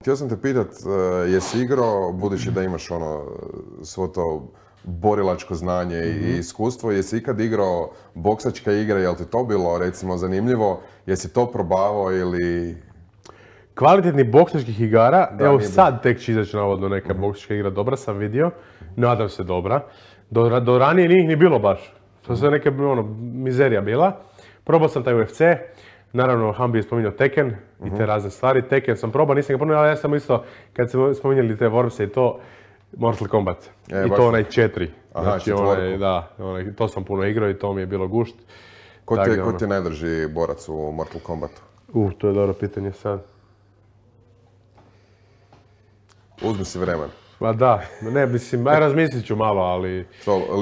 htio sam te pitat, jesi igrao, budući da imaš ono, svo to borilačko znanje i iskustvo, jesi ikad igrao boksačke igre, jel ti to bilo recimo zanimljivo, jesi to probavao ili... Kvalitetnih boksačkih igara, evo sad tek će izaći navodno neka boksačka igra, dobra sam vidio, nadam se dobra. Do ranije nije ih ni bilo baš, to je neka mizerija bila. Probao sam taj UFC, naravno Hambi je spominjao Tekken i te razne stvari. Tekken sam probao, nisam ga ponio, ali ja sam isto, kad smo spominjali te Wormse i to, Mortal Kombat. I to onaj 4. Znači, to sam puno igrao i to mi je bilo gušt. Ko ti je najdrži borac u Mortal Kombatu? To je dobro pitanje sad. Uzmi si vremen. Ma da, ne, mislim, razmislit ću malo, ali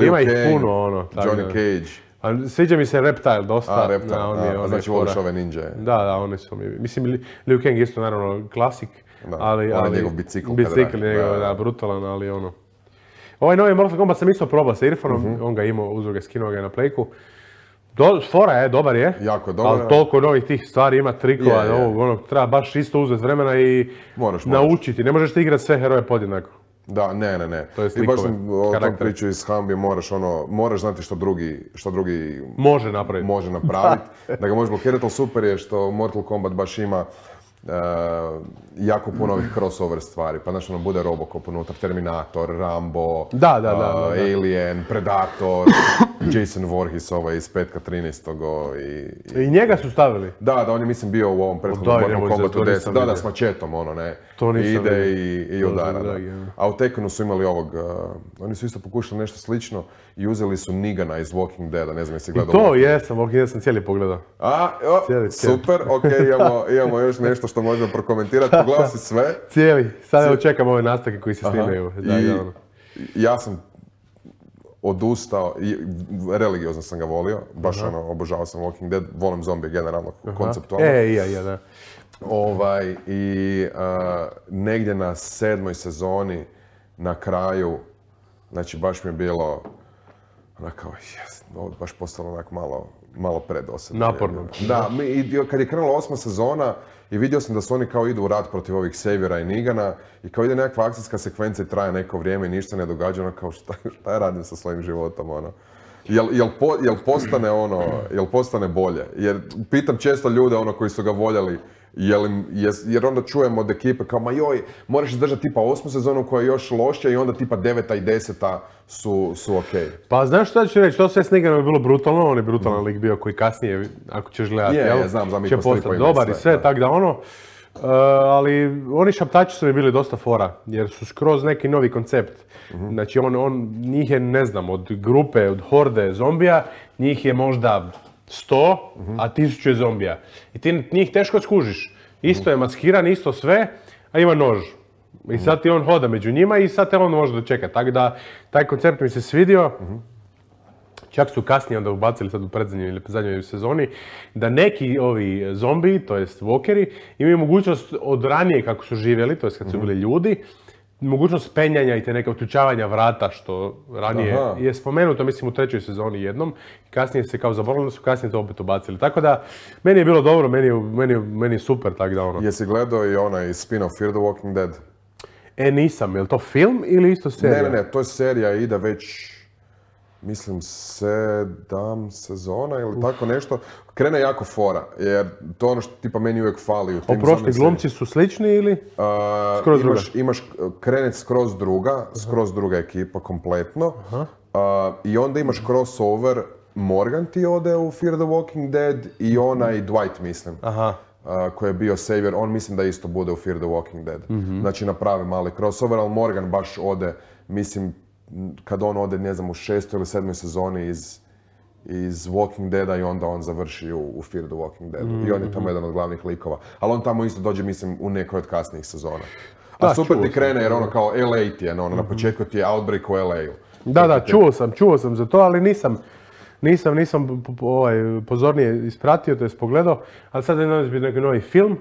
ima ih puno, ono. Johnny Cage. Sviđa mi se Reptile dosta. Reptile, znači voliš ove ninja. Da, oni su mi, mislim, Liu Kang isto naravno klasik, ali... njegov bicikl. Bicikl njegov, da, brutalan, ali ono... Ovaj novi Mortal Kombat sam isto probao sa Irfanom, on ga imao, uzeo ga, skinuo ga na Playku. Fora je, dobar je, jako dobar, ali toliko novih tih stvari ima, trikova, treba baš isto uzeti vremena i naučiti. Ne možeš ti igrati sve heroje podjednako. Da, ne. I baš sam o tom priču iz Hambi, moraš znati što drugi može napraviti. Da ga možeš blokirati, ali super je što Mortal Kombat baš ima jako puno ovih crossover stvari, pa znači bude Robocop unutra, Terminator, Rambo, Alien, Predator, Jason Voorhees iz petka 13. I njega su stavili? Da, on je mislim bio u ovom prethodnom Mortal Kombatu 10, da, s mačetom, ide i udara. A u Tekkenu su imali oni su isto pokušali nešto slično i uzeli su Negana iz Walking Deada, ne znam jesi gledao. I to jesam, Walking Dead sam cijeli pogledao. Super, imamo još nešto što možemo prokomentirati, pogledao si sve. Cijeli, sad evo čekam ove nastavke koji se snimaju. Ja sam odustao, religiozno sam ga volio, baš obožavao sam Walking Dead, volim zombije generalno, konceptualno. Da. I negdje na 7. sezoni, na kraju, znači baš mi je bilo, onako, ovo je baš postalo onako malo predosadno. Naporno. Da, kad je krenula 8. sezona i vidio sam da su oni kao idu u rat protiv ovih Saviora i Negana i kao ide nekakva akcijska sekvenca i traje neko vrijeme i ništa ne događa, ono kao šta ja radim sa svojim životom, ono. Jel postane bolje? Jer pitam često ljude koji su ga voljeli, jer onda čujem od ekipe kao ma joj, moraš izdržati tipa 8. sezonu koja je još lošija i onda tipa 9. i 10. su okej. Pa znaš šta ću reći, to sve s Neganom je bilo brutalno, on je brutalan lik bio koji kasnije, ako ćeš gledati, će postati dobar i sve, tako da ali oni šaptači su mi bili dosta fora, jer su skroz neki novi koncept. Znači njih je, ne znam, od grupe, od horde zombija, njih je možda 100, a 1000 je zombija. I ti njih teško skužiš. Isto je maskiran, isto sve, a ima nož. I sad ti on hoda među njima i sad te on može dočekati. Tako da, taj koncept mi se svidio. Čak su kasnije onda ubacili sad u predzadnjoj ili zadnjoj sezoni da neki ovi zombiji, to jest walkeri, imaju mogućnost od ranije kako su živjeli, to jest kad su bili ljudi, mogućnost penjanja i te neke uključavanja vrata, što ranije je spomenuto, mislim, u 3. sezoni jednom. Kasnije se kao zaboravili, su kasnije to opet ubacili. Tako da, meni je bilo dobro, meni je super, tako da Jesi gledao i onaj spin-off Fear the Walking Dead? Nisam. Je li to film ili isto serija? Ne, to je serija, ide već, mislim, 7 sezona ili tako nešto. Krene jako fora, jer to ono što tipa meni uvijek fali u tim Oprosti, glumci su slični ili skroz druga? Imaš krenet skroz druga ekipa kompletno. I onda imaš crossover, Morgan ti ode u Fear the Walking Dead i onaj Dwight, mislim. Koji je bio Savior, on mislim da isto bude u Fear the Walking Dead. Znači napravi mali crossover, ali Morgan baš ode, mislim, kad on ode, ne znam, u 6. ili 7. sezoni iz Walking Deada i onda on završi u Fear the Walking Deadu. I on je tamo jedan od glavnih likova. Ali on tamo isto dođe, mislim, u nekoj od kasnijih sezona. A super ti krene jer ono kao LA ti je, na početku ti je Outbreak u LA-u. Da, čuo sam za to, ali nisam pozornije ispratio, to jest pogledao. Ali sad je neki novi film.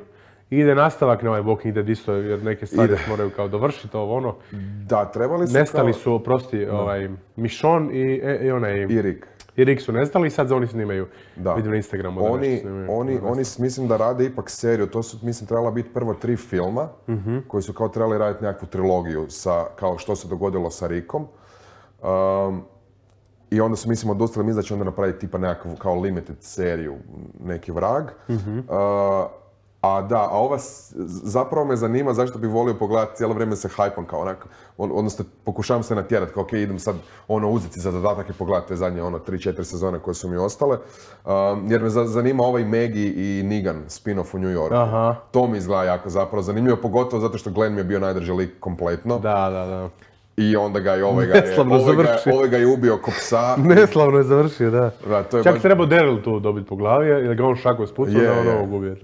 Ide nastavak na ovaj Walking Dead isto, jer neke stvari moraju kao dovršiti Da, trebali su nestali su, oprosti, Michonne i onaj... I Rick. I Rick su nestali i sad oni snimaju. Vidim na Instagramu da nešto snimaju. Oni mislim da rade ipak seriju, to su mislim trebala biti prvo 3 filma koji su kao trebali raditi nekakvu trilogiju sa kao što se dogodilo sa Rickom. I onda su mislim odustali, mislim da će onda napraviti tipa nekakvu kao limited seriju, neki vrag. A ova zapravo me zanima zašto bi volio pogledati, cijelo vrijeme se hajpam kao onako, odnosno pokušavam se natjerati kao okej, idem sad uzeti za zadatak i pogledati te zadnje 3-4 sezone koje su mi ostale. Jer me zanima ovaj Maggie i Negan spin-off u New Yorku. To mi izgleda jako zapravo zanimljivo, pogotovo zato što Glenn mi je bio najdrži lik kompletno. Da. I onda ga je ovaj ga je ubio ko psa. Neslavno je završio, da. Čak treba Daryl tu dobiti po glavi, jer ga on šako spucao da on ovog ubije.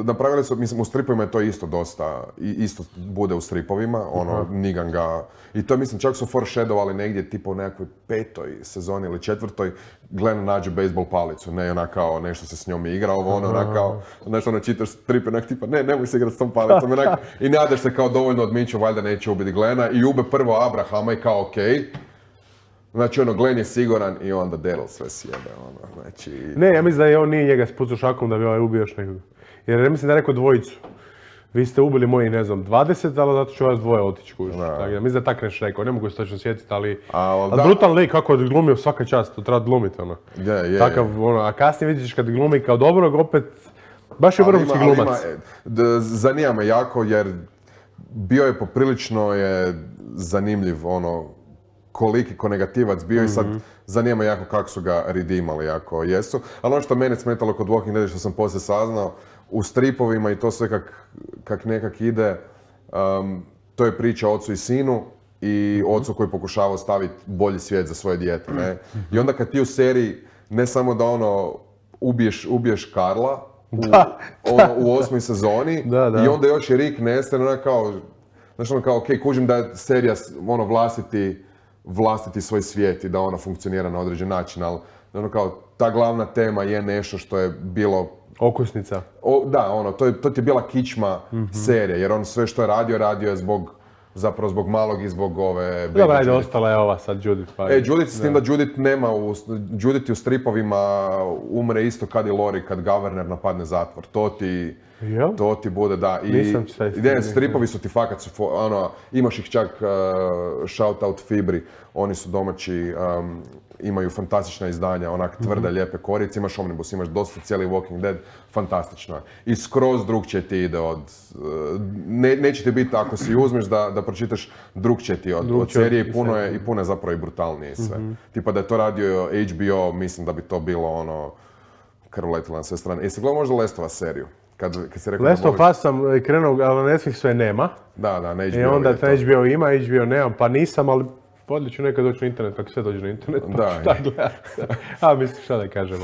Napravili su, mislim, u stripovima je to isto dosta, isto bude u stripovima, Negan ga... I to mislim, čak su foreshadowali negdje, tipa u nekakvoj 5. sezoni ili 4. Glenn nađe bejsbol palicu, ne ona kao nešto se s njom igra, ona kao, nešto čitaš strip, onak tipa, nemoj se igrati s tom palicom, i nadaš se kao dovoljno odmiču, valjda neće ubiti Glena, i ube prvo Abrahama i kao okej. Znači Glenn je siguran i onda Daryl sve sjebe, znači... Ne, ja mislim da je on nije njega spucao šakom da bi ubio još nekog. Jer ja mislim da je rekao dvojicu. Vi ste ubili moji, ne znam, 20, ali zato ću vas dvoje otići kući. Mislim da je tak nešto rekao, ne mogu se točno sjetiti, ali brutalan lik kako je glumio svaka čast, to treba glumiti, Takav, a kasnije vidiš kad glumi kao dobrog, opet, baš je vrhunski glumac. Zanima me jako jer bio je poprilično zanimljiv, koliki ko negativac bio i sad zanima me jako kako su ga redeemali, jako jesu. Ali ono što mene smetalo kod Walking Dead, što sam poslije saznao, u stripovima i to sve kak nekak ide, to je priča o ocu i sinu i ocu koji pokušava ostaviti bolji svijet za svoje dijete, ne? I onda kad ti u seriji ne samo da ubiješ Karla u 8. sezoni i onda još i Rick nestane, kao, okej, kužim da je serija vlastiti svoj svijet i da ona funkcionira na određen način, ali kao ta glavna tema je nešto što je bilo okusnica. To ti je bila kičma serije, jer on sve što je radio je zapravo zbog malog i zbog ove... Dobro, ajde, ostala je ova sad Judith. Judith, s tim da Judith nema, Judith u stripovima umre isto kad i Lori, kad Governor napadne zatvor. To ti bude, da. I stripovi su ti fakat, imaš ih čak, shout out Fibri, oni su domaći, imaju fantastična izdanja, onak tvrde, lijepe korice, imaš Omnibus, imaš dosta cijeli Walking Dead, fantastično je. I skroz drugčije ti ide od... Neće ti biti, ako si uzmeš da pročitaš, drugčije ti od serije i puno je zapravo i brutalnije sve. Tipa da je to radio HBO, mislim da bi to bilo krv letila na sve strane. Jesi gledao možda Lestova seriju? Last of Us sam krenuo, ali na Netflixu je nema. Da, na HBO je to. I onda HBO ima, HBO nemam, pa nisam, ali podlije ću nekad doći na internet, kako sve dođe na internet, pa šta gledati. A mislim šta da kažem,